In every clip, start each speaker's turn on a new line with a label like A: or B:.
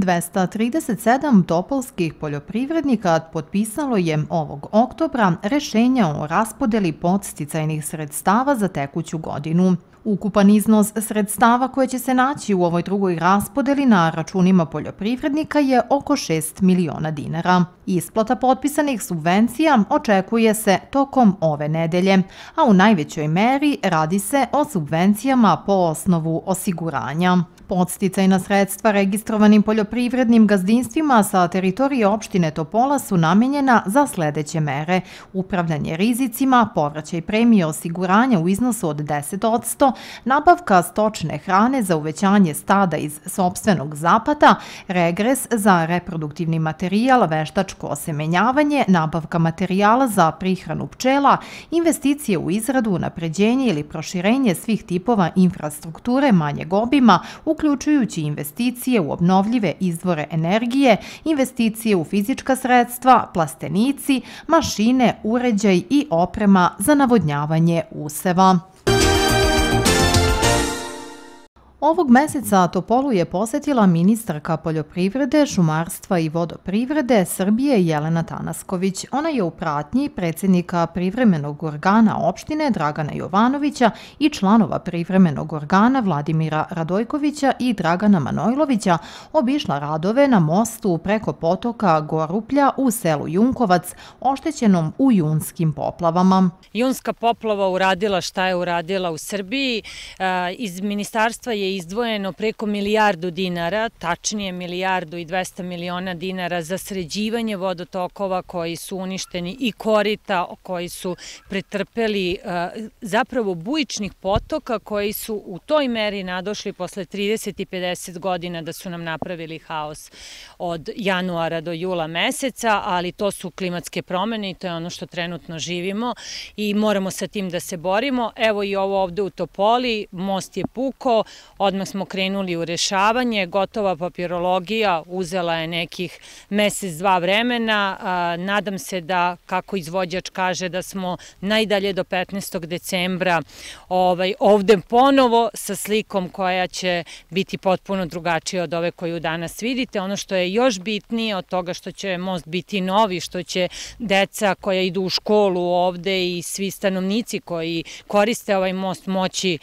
A: 237 topolskih poljoprivrednika potpisalo je ovog oktobra rešenja o raspodeli podsticajnih sredstava za tekuću godinu. Ukupan iznos sredstava koje će se naći u ovoj drugoj raspodeli na računima poljoprivrednika je oko 6 miliona dinara. Isplata potpisanih subvencija očekuje se tokom ove nedelje, a u najvećoj meri radi se o subvencijama po osnovu osiguranja. Podsticajna sredstva registrovanim poljoprivrednim gazdinstvima sa teritorije opštine Topola su namenjena za sledeće mere: upravljanje rizicima, povraćaj premije osiguranja u iznosu od 10%, nabavka stočne hrane za uvećanje stada iz sopstvenog zapata, regres za reproduktivni materijal, veštačko osemenjavanje, nabavka materijala za prihranu pčela, investicije u izradu, unapređenje ili proširenje svih tipova infrastrukture manjeg obima, uključujući investicije u obnovljive izvore energije, investicije u fizička sredstva, plastenici, mašine, uređaj i oprema za navodnjavanje useva. Ovog meseca Topolu je posetila ministarka poljoprivrede, šumarstva i vodoprivrede Srbije Jelena Tanasković. Ona je u pratnji predsjednika privremenog organa opštine Dragana Jovanovića i članova privremenog organa Vladimira Radojkovića i Dragana Manojlovića obišla radove na mostu preko potoka Goruplja u selu Junkovac, oštećenom u junskim poplavama.
B: Junska poplava uradila šta je uradila u Srbiji. Iz ministarstva je izdvojeno preko milijardu dinara, tačnije 1,2 milijarde dinara za sređivanje vodotokova koji su uništeni i korita koji su pretrpeli, zapravo bujičnih potoka koji su u toj meri nadošli posle 30 i 50 godina da su nam napravili haos od januara do jula meseca, ali to su klimatske promene i to je ono što trenutno živimo i moramo sa tim da se borimo. Evo i ovo ovde u Topoli, most je pukao, odmah smo krenuli u rešavanje, gotova papirologija uzela je nekih mesec, dva vremena. Nadam se da, kako izvođač kaže, da smo najdalje do 15. decembra ovde ponovo sa slikom koja će biti potpuno drugačija od ove koju danas vidite. Ono što je još bitnije od toga što će most biti novi, što će deca koja idu u školu ovde i svi stanovnici koji koriste ovaj most moći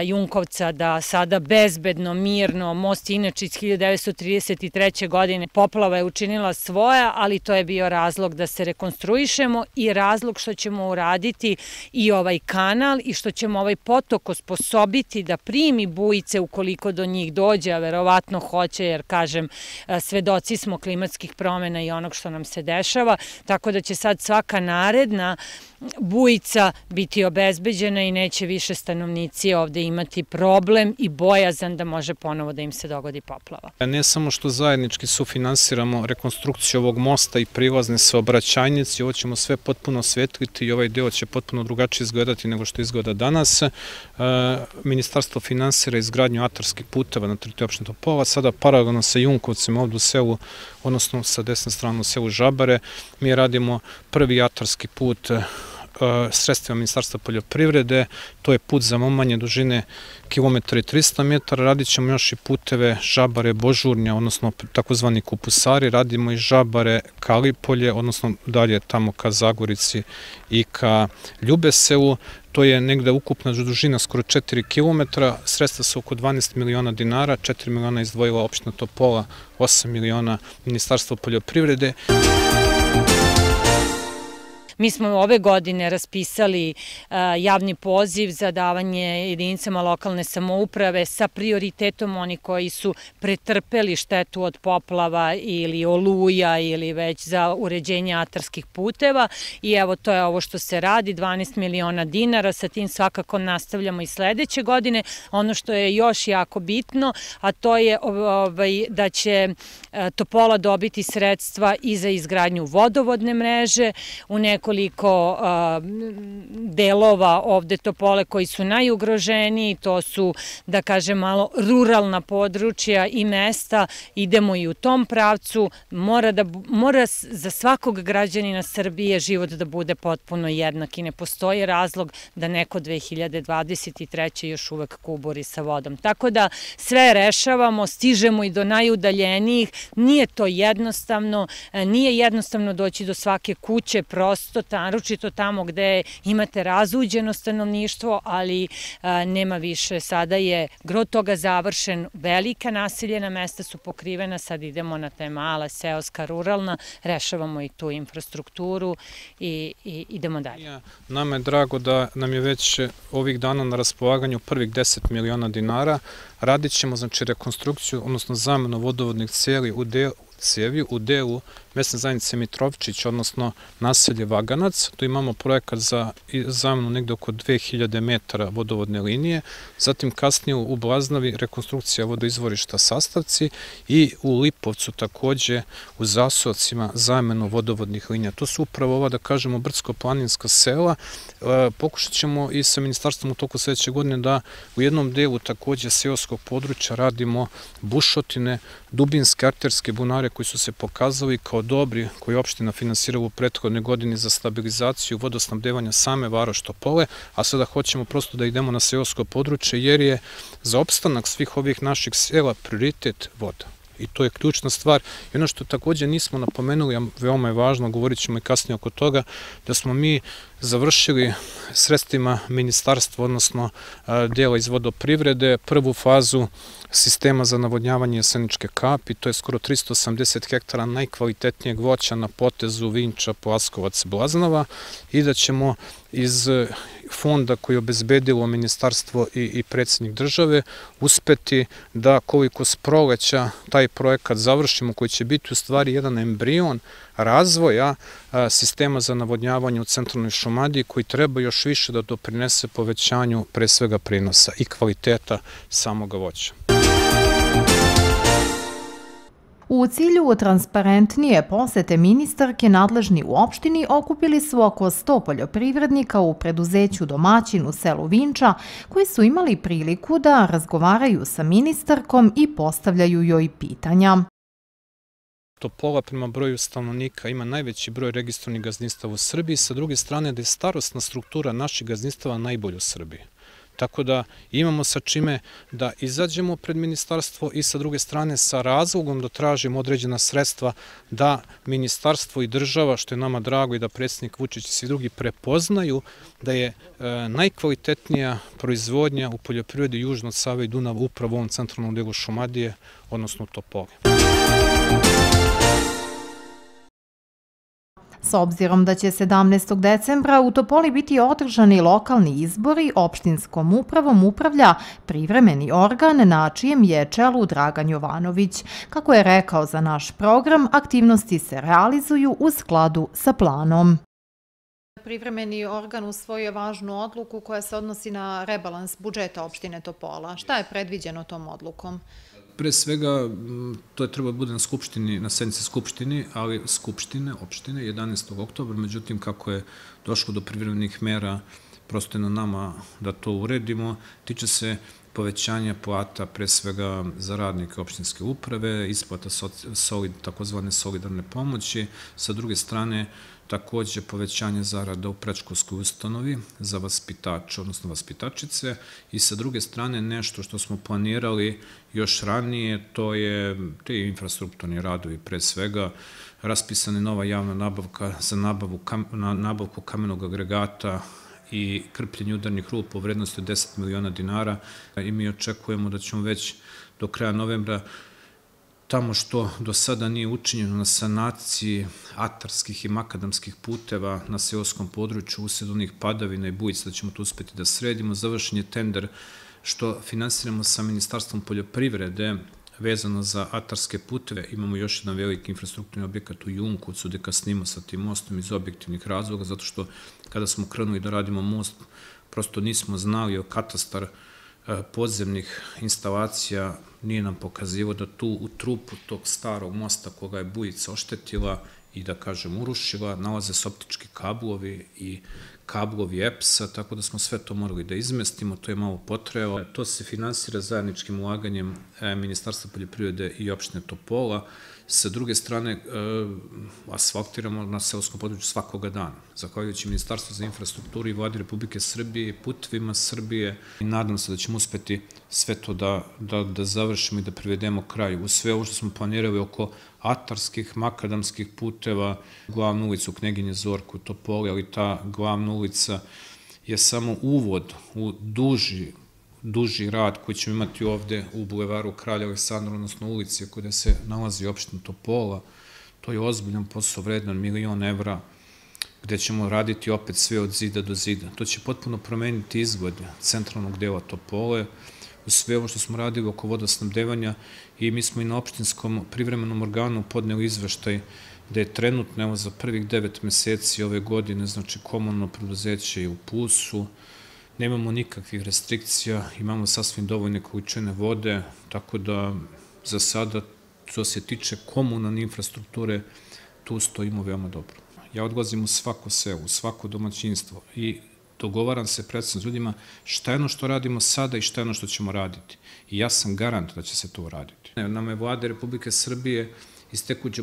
B: Junkovca da sada bezbedno, mirno, most je inače iz 1933. godine, poplava je učinila svoja, ali to je bio razlog da se rekonstruišemo i razlog što ćemo uraditi i ovaj kanal i što ćemo ovaj potok osposobiti da primi bujice ukoliko do njih dođe, a verovatno hoće, jer kažem, svedoci smo klimatskih promena i onog što nam se dešava, tako da će sad svaka naredna bujica biti obezbeđena i neće više stanovnici ovde imati problem i bojazan da može ponovo da im se dogodi poplava.
C: Ne samo što zajednički sufinansiramo rekonstrukciju ovog mosta i prilazne saobraćajnice, ovo ćemo sve potpuno osvetliti i ovaj deo će potpuno drugačije izgledati nego što izgleda danas. Ministarstvo finansira izgradnju atarskih puteva na teritoriji opštine Topola, sada paralelno sa Junkovcem ovde u selu, odnosno sa desne strane u selu Žabare. Mi radimo prvi atarski put sredstvima Ministarstva poljoprivrede, to je put za manje dužine kilometra i 300 metara, radit ćemo još i puteve Žabare, Božurnja, odnosno takozvani kupusari, radimo i Žabare, Kalipolje, odnosno dalje tamo ka Zagorici i ka Ljubeselu. To je negde ukupna dužina skoro 4 kilometra, sredstva su oko 12 miliona dinara, 4 miliona izdvojila opština Topola, 8 miliona Ministarstvo poljoprivrede.
B: Mi smo ove godine raspisali javni poziv za davanje jedinicama lokalne samouprave sa prioritetom oni koji su pretrpeli štetu od poplava ili oluja ili već za uređenje atarskih puteva i evo to je ovo što se radi, 12 miliona dinara, sa tim svakako nastavljamo i sledeće godine. Ono što je još jako bitno, a to je da će Topola dobiti sredstva i za izgradnju vodovodne mreže u nekom nekoliko delova ovde Topole koji su najugroženiji, to su, da kažem, malo ruralna područja i mesta, idemo i u tom pravcu, mora za svakog građanina Srbije život da bude potpuno jednak i ne postoji razlog da neko 2023. još uvek kuburi sa vodom. Tako da sve rešavamo, stižemo i do najudaljenijih, nije to jednostavno, nije jednostavno doći do svake kuće, prosto, naročito tamo gde imate razuđeno stanovništvo, ali nema više. Sada je gro toga završen, velika naseljena mesta su pokrivena, sad idemo na te mala, seoska, ruralna, rešavamo i tu infrastrukturu i idemo dalje.
C: Nama je drago da nam je već ovih dana na raspolaganju prvih 10 miliona dinara. Radit ćemo, znači, rekonstrukciju, odnosno zamenu vodovodnih cijevi u delu mesne zajednice Mitrovčić, odnosno naselje Vaganac. Tu imamo projekat za zamenu negde oko 2000 metara vodovodne linije, zatim kasnije u Blaznavi rekonstrukcija vodoizvorišta Sastavci i u Lipovcu takođe u Zasovcima zamenu vodovodnih linija. To su upravo ova, da kažemo, brdsko-planinska sela. Pokušat ćemo i sa ministarstvom u toku sledeće godine da u jednom delu takođe seoskog područja radimo bušotine, dubinske arterske bunare koji su se pokazali kao dobri, koji je opština finansirala u prethodnoj godini za stabilizaciju vodosnabdevanja same varoši Topole, a sada hoćemo prosto da idemo na seosko područje jer je za opstanak svih ovih naših sela prioritet voda. I to je ključna stvar. I ono što takođe nismo napomenuli, a veoma je važno, govorit ćemo i kasnije oko toga, da smo mi završili sredstvima ministarstva, odnosno dela iz vodoprivrede, prvu fazu sistema za navodnjavanje Jeseničke kapi, to je skoro 380 hektara najkvalitetnijeg voća na potezu Vinča, Plaskovac, Blaznava, i da ćemo iz fonda koji je obezbedilo ministarstvo i predsjednik države uspeti da koliko s proleća taj projekat završimo, koji će biti u stvari jedan embrion razvoja sistema za navodnjavanje u centralnoj Šumadiji, koji treba još više da doprinese povećanju pre svega prinosa i kvaliteta samog voća.
A: U cilju transparentnije posete ministarke, nadležni u opštini okupili su oko 100 poljoprivrednika u preduzeću domaćin u selu Vinča, koji su imali priliku da razgovaraju sa ministarkom i postavljaju joj pitanja.
C: Topola prema broju stanovnika ima najveći broj registrovanih gazdinstava u Srbiji, sa druge strane da je starosna struktura naših gazdinstava najbolja u Srbiji. Tako da imamo sa čime da izađemo pred ministarstvo i sa druge strane sa razlogom da tražimo određena sredstva da ministarstvo i država, što je nama drago, i da predsjednik Vučić i svi drugi prepoznaju da je najkvalitetnija proizvodnja u poljoprivredi južno od Save i Dunava upravo u ovom centralnom delu Šumadije, odnosno u Topoli.
A: S obzirom da će 17. decembra u Topoli biti održani lokalni izbori, opštinskom upravom upravlja privremeni organ na čijem je čelu Dragan Jovanović. Kako je rekao za naš program, aktivnosti se realizuju u skladu sa planom. Privremeni organ usvojio važnu odluku koja se odnosi na rebalans budžeta opštine Topola. Šta je predviđeno tom odlukom?
C: Pre svega, to je treba da bude na sednici Skupštine, ali opštine, 11. oktobra, međutim, kako je došlo do privremenih mera, prosto je na nama da to uredimo, tiče se povećanja plata, pre svega za radnike opštinske uprave, isplata takozvane solidarne pomoći, sa druge strane, takođe povećanje zarada u predškolskoj ustanovi za vaspitače, odnosno vaspitačice, i sa druge strane nešto što smo planirali još ranije, to je te infrastrukturni radovi, pre svega raspisana je nova javna nabavka za nabavku kamenog agregata i krpljenje udarnih rupa u vrednosti od 10 miliona dinara, i mi očekujemo da ćemo već do kraja novembra tamo što do sada nije učinjeno na sanaciji atarskih i makadamskih puteva na seoskom području usred onih padavina i bujica, da ćemo to uspeti da sredimo. Završen je tender što finansiramo sa Ministarstvom poljoprivrede vezano za atarske puteve. Imamo još jedan veliki infrastrukturni objekat u Junkovcu gde kasnimo sa tim mostom iz objektivnih razloga, zato što kada smo krenuli da radimo most, prosto nismo znali o katastar podzemnih instalacija, nije nam pokazivo da tu u trupu tog starog mosta koga je bujica oštetila i da kažem urušila, nalaze se optički kablovi i kablovi EPS-a, tako da smo sve to morali da izmestimo, to je malo potrajalo. To se finansira zajedničkim ulaganjem Ministarstva poljoprivrede i opštine Topola. Sa druge strane, asfaltiramo na seoskom području svakoga dana. Zahvaljujući Ministarstvu za infrastrukturu i Vladi Republike Srbije i Putevima Srbije. I nadam se da ćemo uspeti sve to da završimo i da privedemo kraju. U sve ovo što smo planirali oko atarskih, makadamskih puteva, glavnu ulicu Kneginje Zorku u Topoli, ali ta glavna ulica je samo uvod u duži rad koji ćemo imati ovde u bulevaru Kralja Aleksandra, odnosno ulici gde se nalazi opština Topola. To je ozbiljan posao vredan €1.000.000, gde ćemo raditi opet sve od zida do zida. To će potpuno promeniti izgled centralnog dela Topole, u sve ovo što smo radili oko vodosnabdevanja, i mi smo i na opštinskom privremenom organu podneli izveštaj da je trenutno, evo, za prvih 9 meseci ove godine, znači komunalno preduzeće je u plusu, nemamo nikakvih restrikcija, imamo sasvim dovoljne količine vode, tako da za sada, što se tiče komunalne infrastrukture, tu stojimo veoma dobro. Ja odlazim u svako selo, u svako domaćinstvo i dogovaram se predstavno s ljudima šta je ono što radimo sada i šta je ono što ćemo raditi. I ja sam garant da će se to uraditi. Nama je Vlada Republike Srbije iz tekuće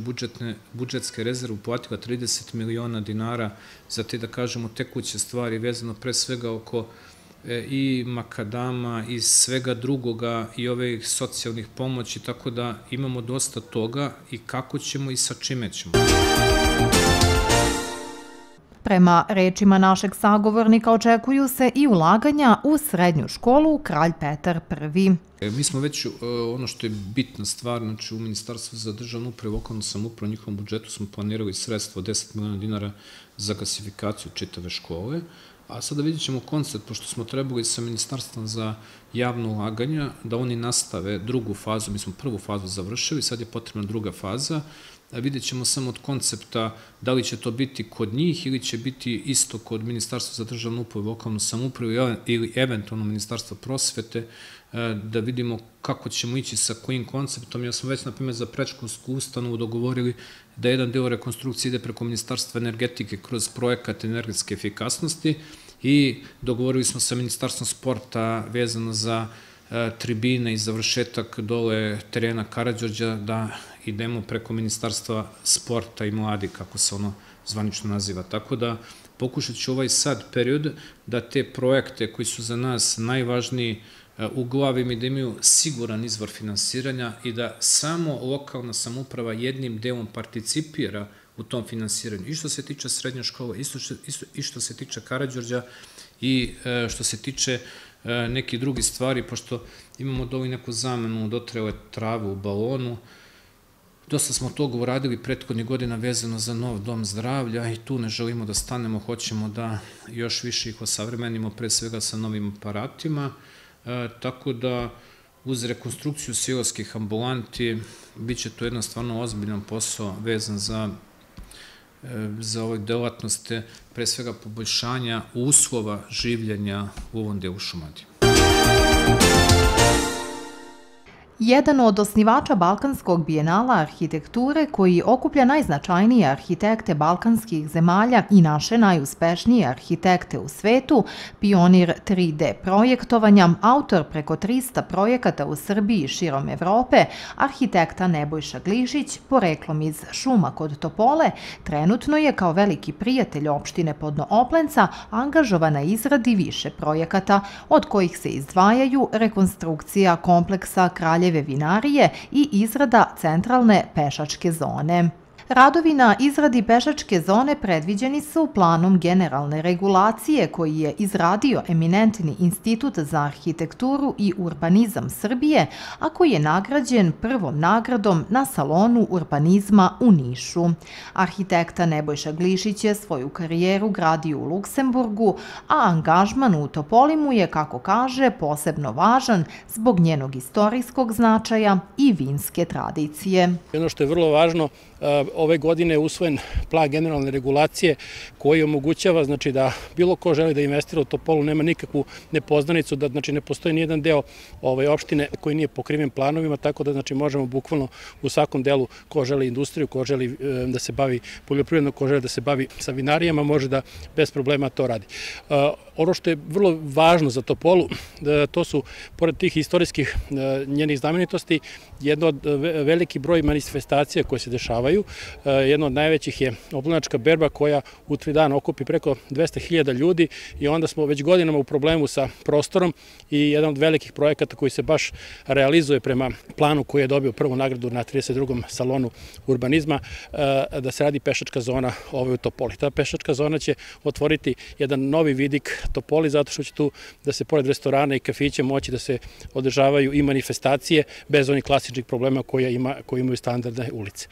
C: budžetske rezerve uplatila 30 miliona dinara za te, da kažemo, tekuće stvari vezano pre svega oko i makadama i svega drugoga i ovih socijalnih pomoći, tako da imamo dosta toga i kako ćemo i sa čime ćemo.
A: Prema rečima našeg sagovornika, očekuju se i ulaganja u srednju školu Kralj Petar I.
C: Mi smo već, ono što je bitna stvar, znači u Ministarstvu za državnu upravu i lokalnu samoupravu, u njihovom budžetu smo planirali sredstvo od 10 miliona dinara za gasifikaciju čitave škole, a sada vidjet ćemo koncept, pošto smo trebali sa Ministarstvom za javno ulaganja da oni nastave drugu fazu, mi smo prvu fazu završili, sad je potrebna druga faza. Vidjet ćemo samo od koncepta da li će to biti kod njih ili će biti isto kod Ministarstva za državnu upravu i lokalnu samoupravu ili eventualno Ministarstva prosvete, da vidimo kako ćemo ići sa kojim konceptom. Ja sam već, na primjer, za predškolsku ustanovu dogovorili da jedan deo rekonstrukcije ide preko Ministarstva energetike kroz projekat energetske efikasnosti i dogovorili smo sa Ministarstvom sporta vezano za tribine i završetak dole terena Karađorđa da idemo preko Ministarstva sporta i mladi, kako se ono zvanično naziva. Tako da pokušat ću ovaj sad period da te projekte koji su za nas najvažniji uglavim i da imaju siguran izvor finansiranja i da samo lokalna samouprava jednim delom participira u tom finansiranju. I što se tiče srednje škole, i što se tiče Karađorđa i što se tiče neki drugi stvari, pošto imamo doli neku zamenu dotrajale trave u balonu. Dosta smo toga uradili prethodnih godina vezano za nov dom zdravlja i tu ne želimo da stanemo, hoćemo da još više ih osavremenimo, pre svega sa novim aparatima, tako da uz rekonstrukciju seoskih ambulanti bit će to jedan stvarno ozbiljan posao vezan za ove delatnosti, pre svega poboljšanja uslova življenja u ovom delu Šumadije.
A: Jedan od osnivača Balkanskog bijenala arhitekture, koji okuplja najznačajnije arhitekte balkanskih zemalja i naše najuspešnije arhitekte u svetu, pionir 3D projektovanja, autor preko 300 projekata u Srbiji i širom Evrope, arhitekta Nebojša Glišić, poreklom iz Šuma kod Topole, trenutno je kao veliki prijatelj opštine Podno-Oplenca angažovan na izradi više projekata, od kojih se izdvajaju rekonstrukcija kompleksa Kraljeve vinarije i izrada centralne pešačke zone. Radovi na izradi pešačke zone predviđeni su planom generalne regulacije koji je izradio eminentni Institut za arhitekturu i urbanizam Srbije, a koji je nagrađen prvom nagradom na salonu urbanizma u Nišu. Arhitekta Nebojša Glišić je svoju karijeru gradio u Luksemburgu, a angažman u Topoli mu je, kako kaže, posebno važan zbog njenog istorijskog značaja i vinske tradicije.
D: Ono što je vrlo važno, ove godine je usvojen plan generalne regulacije koji omogućava znači, da bilo ko želi da investira u Topolu nema nikakvu nepoznanicu, da znači, ne postoji nijedan deo opštine koji nije pokriven planovima, tako da znači, možemo bukvalno u svakom delu ko želi industriju, ko želi da se bavi poljoprivredno, ko želi da se bavi sa vinarijama, može da bez problema to radi. Ono što je vrlo važno za Topolu, to su, pored tih istorijskih njenih znamenitosti, jedno od veliki broj manifestacija koje se dešavaju. Jedno od najvećih je Oblonačka berba koja u 3 dana okupi preko 200.000 ljudi i onda smo već godinama u problemu sa prostorom i jedan od velikih projekata koji se baš realizuje prema planu koji je dobio prvu nagradu na 32. salonu urbanizma, da se radi pešačka zona u Topoli. Ta pešačka zona će otvoriti jedan novi vidik Topoli zato što će tu da se pored restorana i kafića moći da se održavaju i manifestacije bez onih klasičnih problema koje imaju standardne ulice.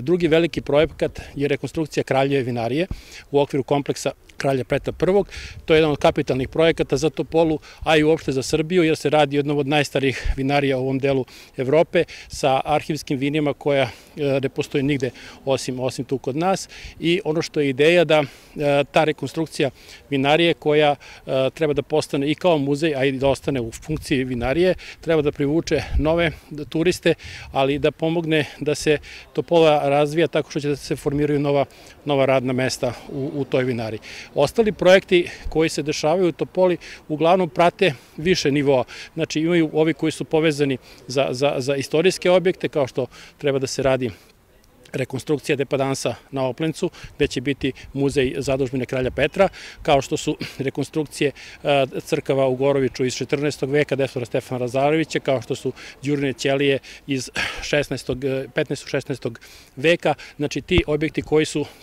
D: Drugi veliki projekat je rekonstrukcija Kraljeve vinarije u okviru kompleksa Kralja Petra I. To je jedan od kapitalnih projekata za Topolu, a i uopšte za Srbiju, jer se radi o jednom od najstarijih vinarija u ovom delu Evrope sa arhivskim vinima koja ne postoji nigde osim tu kod nas. I ono što je ideja da ta rekonstrukcija vinarije koja treba da postane i kao muzej, a i da ostane u funkciji vinarije, treba da privuče nove turiste, ali da pomogne da se Topola razvija tako što će da se formiraju nova radna mesta u toj vinariji. Ostali projekti koji se dešavaju u Topoli uglavnom prate više nivoa. Znači imaju ovi koji su povezani za istorijske objekte, kao što treba da se radi rekonstrukcija depadansa na Oplencu, gde će biti muzej zadužbine Kralja Petra, kao što su rekonstrukcije crkava u Goroviću iz 14. veka Destora Stefana Lazarevića, kao što su Đurine ćelije iz 15. 16. veka, znači ti objekti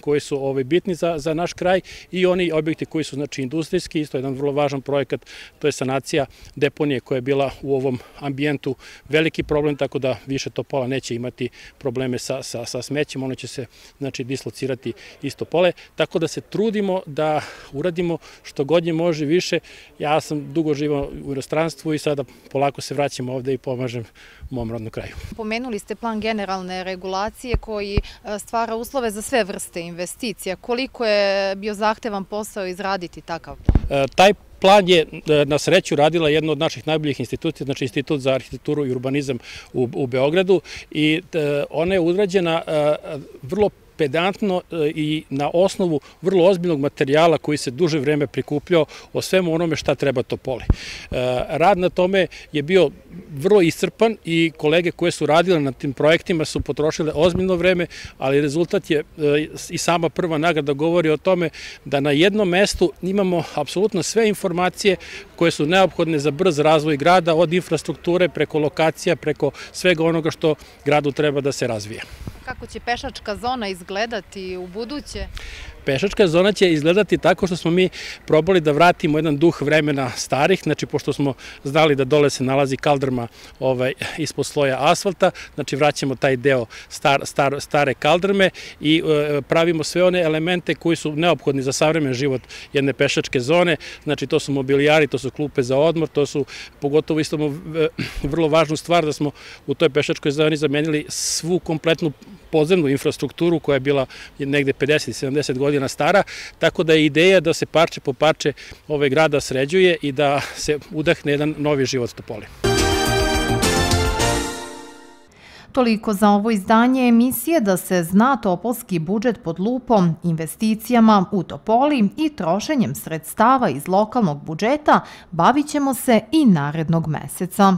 D: koji su bitni za naš kraj i oni objekti koji su znači industrijski, isto jedan vrlo važan projekat, to je sanacija deponije koja je bila u ovom ambijentu veliki problem, tako da više Topola neće imati probleme sa smećem, ono će se znači dislocirati iz Topole, tako da se trudimo da uradimo što god je može više. Ja sam dugo živao u inostranstvu i sada polako se vraćam ovde i pomažem mom rodnom kraju.
E: Pomenuli ste plan generalne regulacije koji stvara uslove za sve vrste investicija. Koliko je bio zahtevan posao izraditi takav plan?
D: Taj plan je na sreću radila jedna od naših najboljih institucija, znači Institut za arhitekturu i urbanizam u Beogradu i ona je urađena vrlo pedantno i na osnovu vrlo ozbiljnog materijala koji se duže vreme prikupljao o svemu onome šta treba Topoli. Rad na tome je bio vrlo iscrpan i kolege koje su radile na tim projektima su potrošile ozbiljno vreme, ali rezultat je i sama prva nagrada govori o tome da na jednom mestu imamo apsolutno sve informacije koje su neophodne za brz razvoj grada, od infrastrukture preko lokacija, preko svega onoga što gradu treba da se razvije.
E: Kako će pešačka zona izgledati u buduće?
D: Pešačka zona će izgledati tako što smo mi probali da vratimo jedan duh vremena starih, znači pošto smo znali da dole se nalazi kaldrma ispod sloja asfalta, znači vraćamo taj deo stare kaldrme i pravimo sve one elemente koji su neophodni za savremen život jedne pešačke zone, znači to su mobilijari, to su klupe za odmor, to su pogotovo isto vrlo važnu stvar da smo u toj pešačkoj zoni zamenili svu kompletnu podzemnu infrastrukturu koja je bila negde 50-70 godina stara, tako da je ideja da se parče po parče grada sređuje i da se udahne jedan novi život Topoli.
A: Toliko za ovo izdanje emisije Da se zna topolski budžet pod lupom, investicijama u Topoli i trošenjem sredstava iz lokalnog budžeta bavit ćemo se i narednog meseca.